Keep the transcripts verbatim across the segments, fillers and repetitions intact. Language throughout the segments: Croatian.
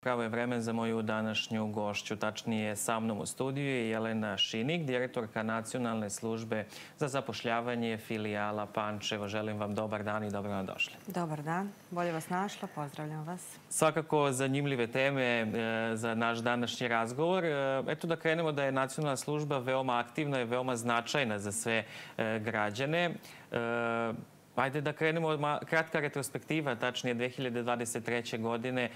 Pravo je vreme za moju današnju gošću, tačnije sa mnom u studiju je Jelena Šinik, direktorka Nacionalne službe za zapošljavanje filijala Pančevo. Želim vam dobar dan i dobro nam došli. Dobar dan, bolje vas našla, pozdravljam vas. Svakako zanimljive teme za naš današnji razgovor. Eto da krenemo da je Nacionalna služba veoma aktivna i veoma značajna za sve građane. Ajde da krenemo, kratka retrospektiva, tačnije dve hiljade dvadeset treće. godine.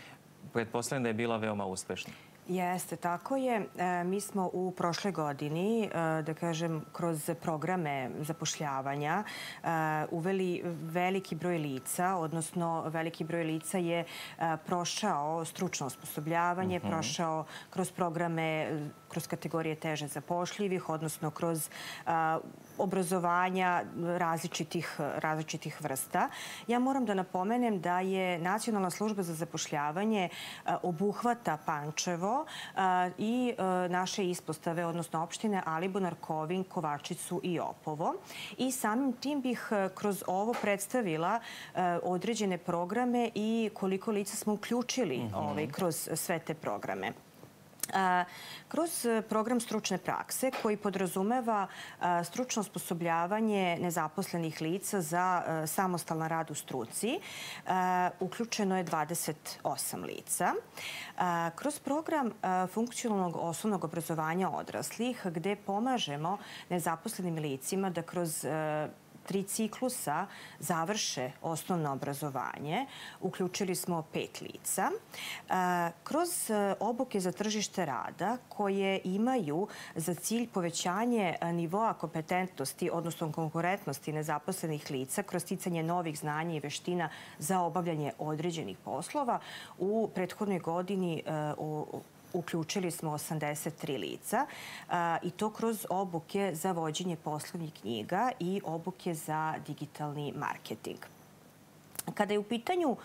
Pretpostavljam da je bila veoma uspešna. Jeste, tako je. Mi smo u prošloj godini, da kažem, kroz programe zapošljavanja uveli veliki broj lica, odnosno veliki broj lica je prošao stručno osposobljavanje, prošao kroz programe, kroz kategorije teže zapošljivih, odnosno kroz obrazovanja različitih, različitih vrsta. Ja moram da napomenem da je Nacionalna služba za zapošljavanje obuhvata Pančevo i naše ispostave, odnosno opštine Alibunar, Kovin, Kovačicu i Opovo. I samim tim bih kroz ovo predstavila određene programe i koliko lica smo uključili kroz sve te programe. Kroz program stručne prakse koji podrazumeva stručno osposobljavanje nezaposlenih lica za samostalan rad u struci, uključeno je dvadeset osam lica. Kroz program funkcionalnog osnovnog obrazovanja odraslih, gde pomažemo nezaposlenim licima da kroz tri ciklusa završe osnovno obrazovanje. Uključili smo pet lica. Kroz obuke za tržište rada koje imaju za cilj povećanje nivoa kompetentnosti, odnosno konkurentnosti nezaposlenih lica kroz sticanje novih znanja i veština za obavljanje određenih poslova, u prethodnoj godini uključili smo osamdeset tri lica i to kroz obuke za vođenje poslovnih knjiga i obuke za digitalni marketing. Kada je u pitanju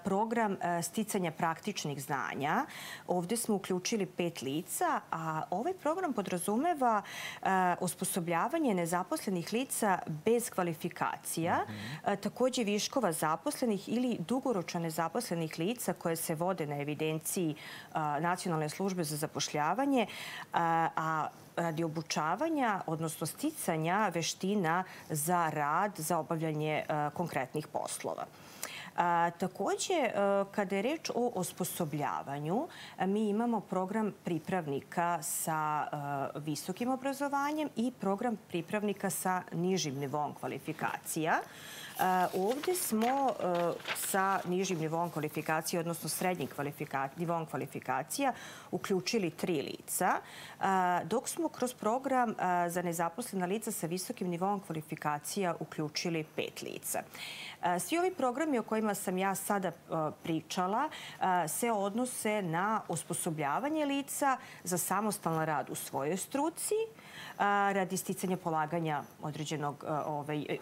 program sticanja praktičnih znanja, ovdje smo uključili pet lica, a ovaj program podrazumeva osposobljavanje nezaposlenih lica bez kvalifikacija, također viškova zaposlenih ili dugoročno nezaposlenih lica koje se vode na evidenciji Nacionalne službe za zapošljavanje, a radi obučavanja, odnosno sticanja veština za rad, za obavljanje konkretnih poslova. Također, kada je reč o osposobljavanju, mi imamo program pripravnika sa visokim obrazovanjem i program pripravnika sa nižim nivom kvalifikacija. Ovdje smo sa nižim nivom kvalifikacije, odnosno srednjim nivom kvalifikacija, uključili tri lica, dok smo kroz program za nezaposlena lica sa visokim nivom kvalifikacija uključili pet lica. Svi ovi programi o kojima sam ja sada pričala se odnose na osposobljavanje lica za samostalan rad u svojoj struci, radi sticanja polaganja određenog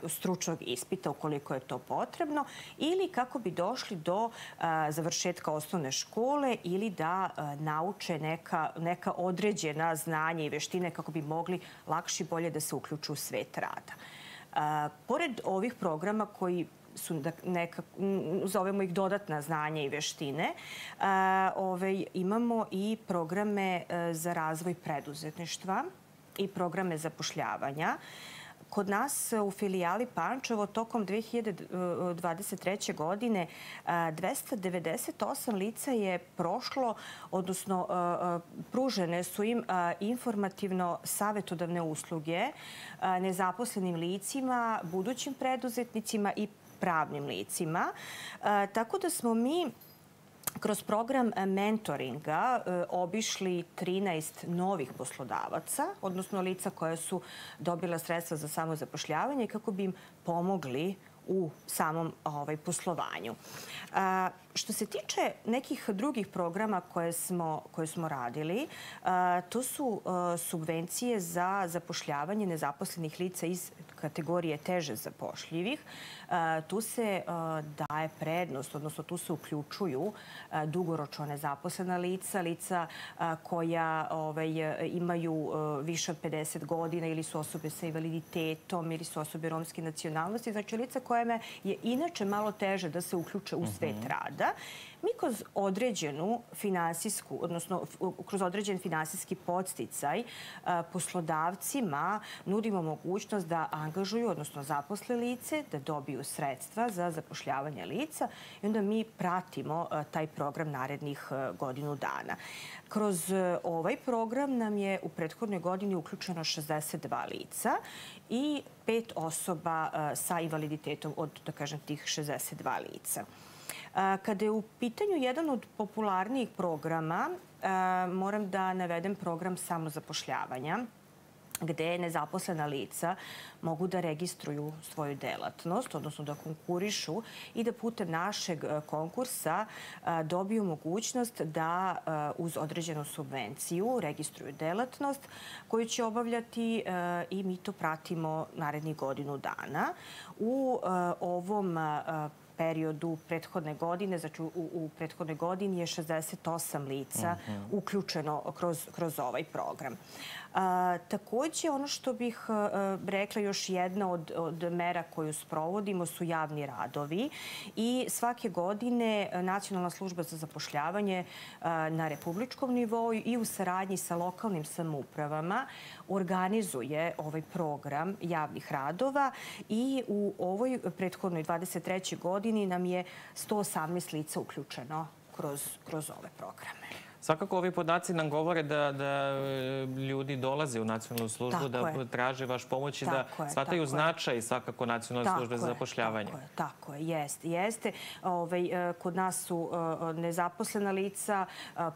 stručnog ispita ukoliko je to potrebno, ili kako bi došli do završetka osnovne škole ili da nauče neka određena znanja i veštine kako bi mogli lakše i bolje da se uključu u svet rada. Pored ovih programa koji su neka, zovemo ih dodatna znanja i veštine, imamo i programe za razvoj preduzetništva i programe zapošljavanja. Kod nas u filijali Pančevo tokom dve hiljade dvadeset treće. godine dvesta devedeset osam lica je prošlo, odnosno pružene su im informativno-savetodavne usluge nezaposlenim licima, budućim preduzetnicima i pravnim licima. Tako da smo mi kroz program mentoringa obišli trinaest novih poslodavaca, odnosno lica koja su dobila sredstva za samozapošljavanje kako bi im pomogli u samom poslovanju. Što se tiče nekih drugih programa koje smo radili, to su subvencije za zapošljavanje nezaposlenih lica iz kategorije teže zapošljivih. Tu se daje prednost, odnosno tu se uključuju dugoročno nezaposlena lica, lica koja imaju više od pedeset godina ili su osobe sa invaliditetom ili su osobe romske nacionalnosti. Znači lica kojima je inače malo teže da se uključe u svet rada. Mi kroz određenu finansijsku, odnosno kroz određen finansijski podsticaj poslodavcima nudimo mogućnost da angažuju, odnosno zaposle lice, da dobiju sredstva za zapošljavanje lica i onda mi pratimo taj program narednih godinu dana. Kroz ovaj program nam je u prethodnoj godini uključeno šezdeset dva lica i pet osoba sa invaliditetom od, da kažem, tih šezdeset dva lica. Kada je u pitanju jedan od popularnijih programa, moram da navedem program samozapošljavanja, gde nezaposlena lica mogu da registruju svoju delatnost, odnosno da konkurišu i da putem našeg konkursa dobiju mogućnost da uz određenu subvenciju registruju delatnost koju će obavljati i mi to pratimo narednih godinu dana. U ovom periodu prethodne godine, znači u, u prethodnoj godini je šezdeset osam lica uključeno kroz, kroz ovaj program. A, takođe, ono što bih a, rekla, još jedna od, od mera koju sprovodimo su javni radovi i svake godine Nacionalna služba za zapošljavanje a, na republičkom nivou i u saradnji sa lokalnim samoupravama organizuje ovaj program javnih radova i u ovoj prethodnoj dvadeset trećoj godini nam je sto osamnaest lica uključeno kroz, kroz ove programe. Svakako ovi podaci nam govore da, da ljudi dolaze u nacionalnu službu, tako da je. traže vaš pomoć i da je, shvataju značaj svakako nacionalne tako službe za zapošljavanje. Tako je, tako je, jeste. jeste. Ove, kod nas su nezaposlena lica,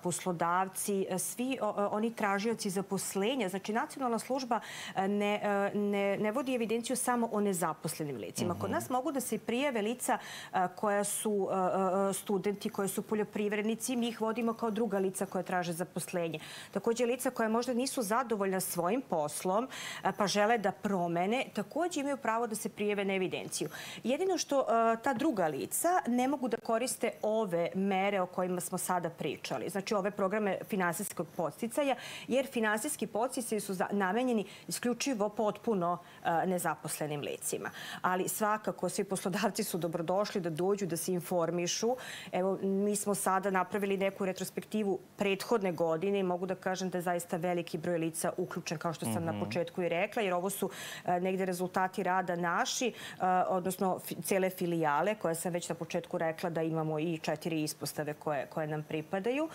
poslodavci, svi oni tražioci zaposlenja. Znači, nacionalna služba ne, ne, ne vodi evidenciju samo o nezaposlenim licima. Uh -huh. Kod nas mogu da se prijave lica koja su studenti, koje su poljoprivrednici. Mi ih vodimo kao druga lica koja traže zaposlenje. Takođe, lica koja možda nisu zadovoljna svojim poslom pa žele da promene, takođe imaju pravo da se prijave na evidenciju. Jedino što ta druga lica ne mogu da koriste ove mere o kojima smo sada pričali. Znači, ove programe finansijskog podsticaja, jer finansijski podsticaji su namenjeni isključivo potpuno nezaposlenim licima. Ali svakako, svi poslodavci su dobrodošli da dođu, da se informišu. Evo, mi smo sada napravili neku retrospektivu prethodne godine i mogu da kažem da je zaista veliki broj lica uključen, kao što sam mm -hmm. na početku i rekla, jer ovo su negde rezultati rada naši, odnosno cele filijale, koje sam već na početku rekla da imamo i četiri ispostave koje, koje nam pripadaju.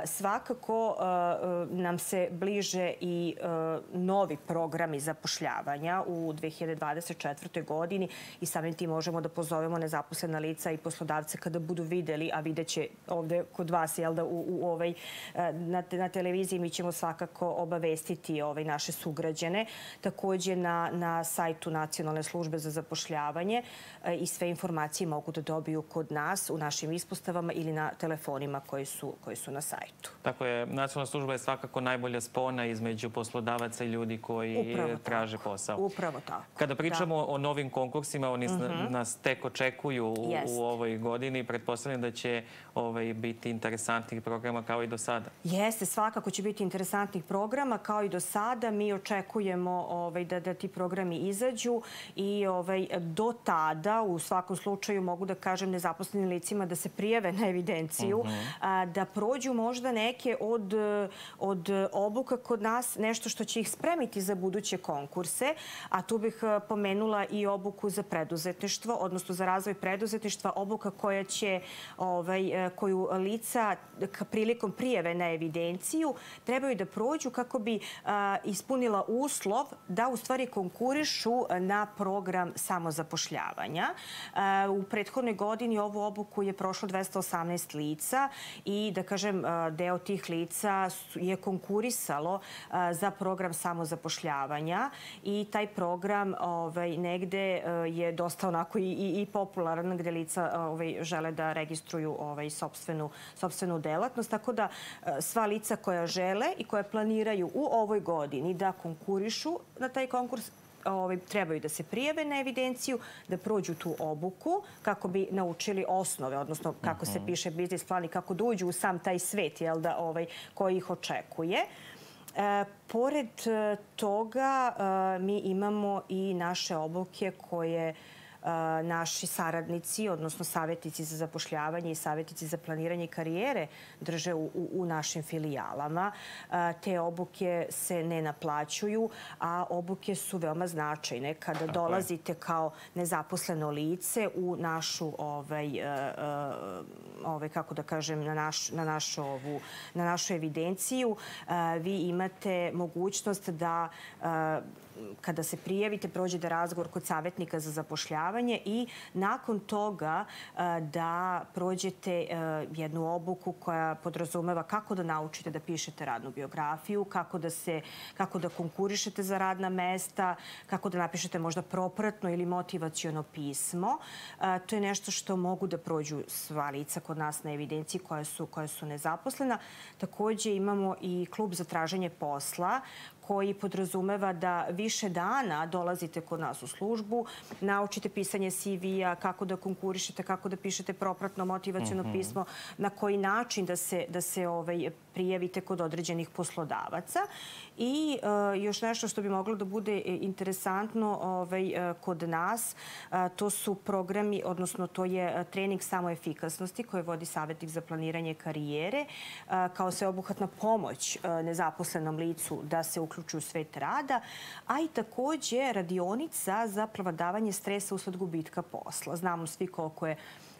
Svakako nam se bliže i novi programi zapošljavanja u dve hiljade dvadeset četvrtoj godini i samim tim možemo da pozovemo nezaposlena lica i poslodavce kada budu videli, a vidjet će ovde kod vas, jel da, u, u ovaj, na, na televiziji mi ćemo svakako obavestiti ovaj, naše sugrađane. Takođe na, na sajtu Nacionalne službe za zapošljavanje i sve informacije mogu da dobiju kod nas u našim ispostavama ili na telefonima koji su, koji su na sajtu. Tako je, Nacionalna služba je svakako najbolja spona između poslodavaca i ljudi koji Upravo traže tako. posao. Upravo tako. Kada pričamo da. o novim konkursima, oni mm -hmm. nas tek očekuju u, u ovoj godini. Pretpostavljam da će ovaj, biti interesantnih programa kao i do sada. Jeste, svakako će biti interesantnih programa kao i do sada. Mi očekujemo ovaj, da, da ti programi izađu i ovaj, do tada u svakom slučaju mogu da kažem nezaposlenim licima da se prijave na evidenciju, uh -huh. a, da prođu možda neke od, od obuka kod nas, nešto što će ih spremiti za buduće konkurse, a tu bih pomenula i obuku za preduzetništvo, odnosno za razvoj preduzetništva, obuka koja će, ovaj, koju lica prilikom prijave na evidenciju trebaju da prođu kako bi a, ispunila uslov da u stvari konkurišu na program samozapošljavanja. A, u prethodnoj godini ovu obuku je prošlo dvesta osamnaest lica i da kažem deo tih lica je konkurisalo a, za program samozapošljavanja i taj program ovaj, negde je dosta onako i, i, i popularan gde lica ovaj, žele da registruju ovaj, sopstvenu, sopstvenu delatnost. Tako da sva lica koja žele i koja planiraju u ovoj godini da konkurišu na taj konkurs ovaj, trebaju da se prijave na evidenciju, da prođu tu obuku kako bi naučili osnove, odnosno kako se piše biznis plan i kako da uđu u sam taj svet, jel da, ovaj, koji ih očekuje. E, pored toga e, mi imamo i naše obuke koje naši saradnici, odnosno savjetnici za zapošljavanje i savjetnici za planiranje karijere drže u, u našim filijalama. Te obuke se ne naplaćuju, a obuke su veoma značajne. Kada dolazite kao nezaposleno lice u našu, ovaj, ovaj, kako da kažem, na, naš, na, našu, ovu, na našu evidenciju, vi imate mogućnost da kada se prijavite, prođete razgovor kod savjetnika za zapošljavanje i nakon toga da prođete jednu obuku koja podrazumeva kako da naučite da pišete radnu biografiju, kako da, se, kako da konkurišete za radna mesta, kako da napišete možda propratno ili motivaciono pismo. To je nešto što mogu da prođu sva lica kod nas na evidenciji koja su, koja su nezaposlena. Također imamo i klub za traženje posla koji podrazumeva da više dana dolazite kod nas u službu, naučite pisanje C V-a, kako da konkurišete, kako da pišete propratno motivaciono mm-hmm. pismo, na koji način da se, da se ovaj, prijavite kod određenih poslodavaca. I uh, još nešto što bi moglo da bude interesantno ovaj, uh, kod nas, uh, to su programi, odnosno to je uh, trening samoefikasnosti koje vodi savjetnik za planiranje karijere, uh, kao sveobuhvatna pomoć uh, nezaposlenom licu da se uključuju u svet rada, a i također radionica za prevladavanje stresa usled gubitka posla. Znamo svi koliko je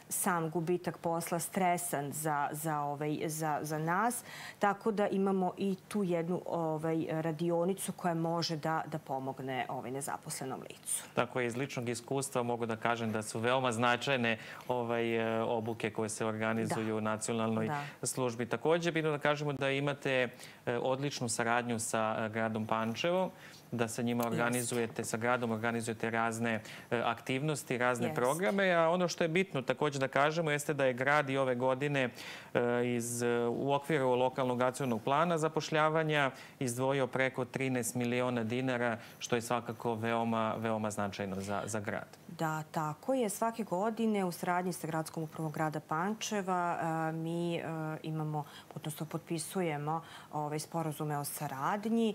sam gubitak posla stresan za, za, ovaj, za, za nas, tako da imamo i tu jednu ovaj, radionicu koja može da, da pomogne ovaj, nezaposlenom licu. Tako je, iz ličnog iskustva mogu da kažem da su veoma značajne ovaj, obuke koje se organizuju da. u nacionalnoj da. službi. Također, bitno da kažemo da imate odličnu saradnju sa gradom Pančevo, da sa njima organizujete, sa gradom organizujete razne aktivnosti, razne yes. programe. A ono što je bitno također da kažemo jeste da je grad i ove godine iz, u okviru lokalnog akcionog plana zapošljavanja izdvojio preko trinaest miliona dinara, što je svakako veoma, veoma značajno za, za grad. Da, tako je. Svake godine u saradnji sa gradskom upravom grada Pančeva mi imamo, odnosno potpisujemo ove sporazume o saradnji.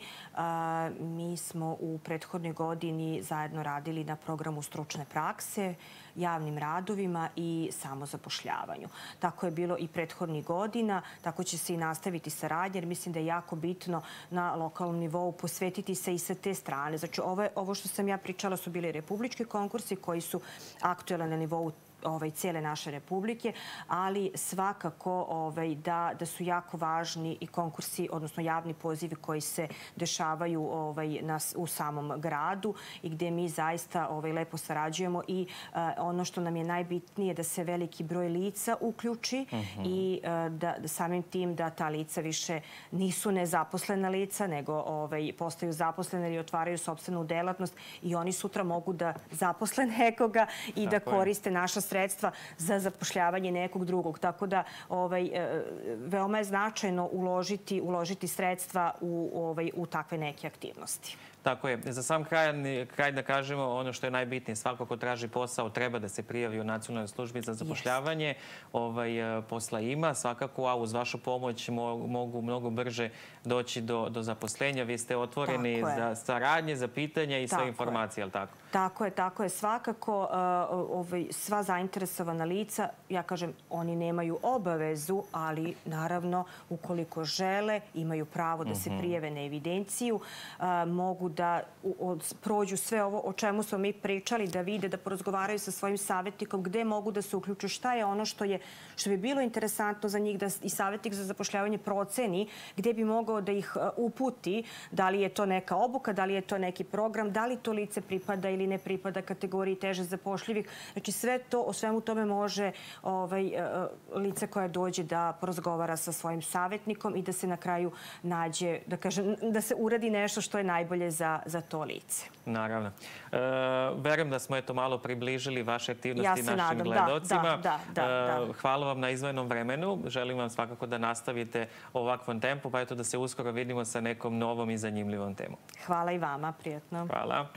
Mi smo u prethodnoj godini zajedno radili na programu stručne prakse, javnim radovima i samozapošljavanju. Tako je bilo i prethodnih godina, tako će se i nastaviti saradnja, jer mislim da je jako bitno na lokalnom nivou posvetiti se i sa te strane. Znači, ovo, ovo što sam ja pričala su bili republički konkursi koji su aktuelni na nivou ovaj, cijele naše republike, ali svakako ovaj, da, da su jako važni i konkursi, odnosno javni pozivi koji se dešavaju ovaj, nas, u samom gradu i gdje mi zaista ovaj, lepo sarađujemo i uh, ono što nam je najbitnije da se veliki broj lica uključi uh-huh. i uh, da, da samim tim da ta lica više nisu nezaposlena lica, nego ovaj, postaju zaposlene ili otvaraju sopstvenu delatnost i oni sutra mogu da zaposle nekoga i Tako da koriste je. naša sredstva za zapošljavanje nekog drugog. Tako da ovaj, veoma je značajno uložiti, uložiti sredstva u, ovaj, u takve neke aktivnosti. Tako je. Za sam kraj, kraj da kažemo ono što je najbitnije. Svako ko traži posao treba da se prijavi u nacionalnoj službi za zapošljavanje. Yes. Ovaj, posla ima svakako, a uz vašu pomoć mogu mnogo brže doći do, do zaposlenja. Vi ste otvoreni za saradnje, za pitanja i sve informacije, je li tako? Tako je, tako je. Svakako ovaj, sva zainteresovana lica, ja kažem, oni nemaju obavezu, ali naravno ukoliko žele, imaju pravo da se prijave na evidenciju, mogu da prođu sve ovo o čemu smo mi pričali, da vide, da porazgovaraju sa svojim savjetnikom, gde mogu da se uključu, šta je ono što, je, što bi bilo interesantno za njih, da i savjetnik za zapošljavanje proceni, gde bi mogao da ih uputi, da li je to neka obuka, da li je to neki program, da li to lice pripada ili ne pripada kategoriji teže zapošljivih. Znači sve to, o svemu tome može ovaj, lice koje dođe da porazgovara sa svojim savjetnikom i da se na kraju nađe, da kažem, da se uradi nešto što je najbolje za, za to lice. Naravno. E, verujem da smo eto malo približili vaše aktivnosti ja našim nadam. gledocima. Da, da, da, da. E, hvala vam na izdvojenom vremenu. Želim vam svakako da nastavite u ovakvom tempu, pa eto da se uskoro vidimo sa nekom novom i zanimljivom temom. Hvala i vama, prijatno. Hvala.